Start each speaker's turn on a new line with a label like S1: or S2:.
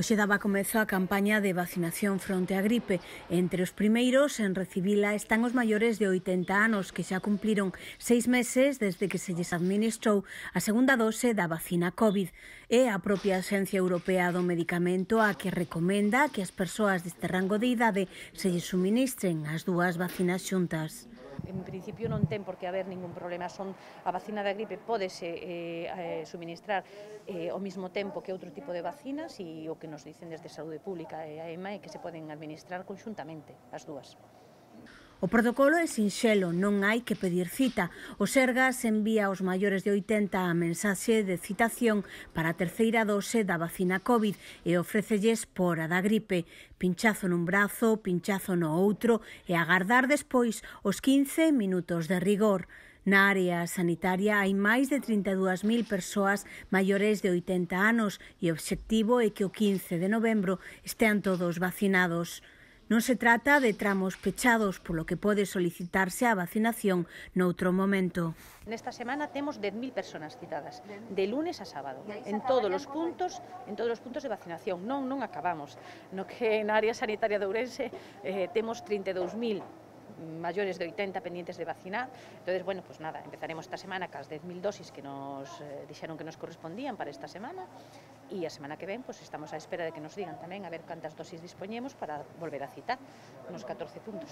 S1: Hoxe daba comezo a campaña de vacinación fronte á gripe. Entre os primeiros en recibila están os maiores de 80 anos que xa cumpliron 6 meses desde que se lles administrou a segunda dose da vacina COVID. É a propia Axencia Europea do Medicamento a que recomenda que as persoas deste rango de idade se lles suministren as dúas vacinas xuntas.
S2: En principio non ten por que haber ningún problema, a vacina da gripe pódese suministrar ao mesmo tempo que outro tipo de vacinas e o que nos dicen desde Saúde Pública e a EMA é que se poden administrar conxuntamente as dúas.
S1: O protocolo é sinxelo, non hai que pedir cita. O Sergas envía aos maiores de 80 a mensaxe de citación para a terceira dose da vacina COVID e ofrécelles por a da gripe. Pinchazo nun brazo, pinchazo no outro e agardar despois os 15 minutos de rigor. Na área sanitaria hai máis de 32.000 persoas maiores de 80 anos e o obxectivo é que o 15 de novembro estean todos vacinados. Non se trata de tramos pechados, polo que pode solicitarse a vacinación noutro momento.
S2: Nesta semana temos 10.000 personas citadas, de lunes a sábado, en todos os puntos de vacinación. Non acabamos. No que na área sanitaria de Ourense temos 32.000 maiores de 80 pendientes de vacinar. Entonces, bueno, pues nada, empezaremos esta semana cas 10.000 dosis que nos dixeron que nos correspondían para esta semana e a semana que ven, pues estamos á espera de que nos digan tamén a ver cantas dosis dispoñemos para volver a citar nos 14 puntos.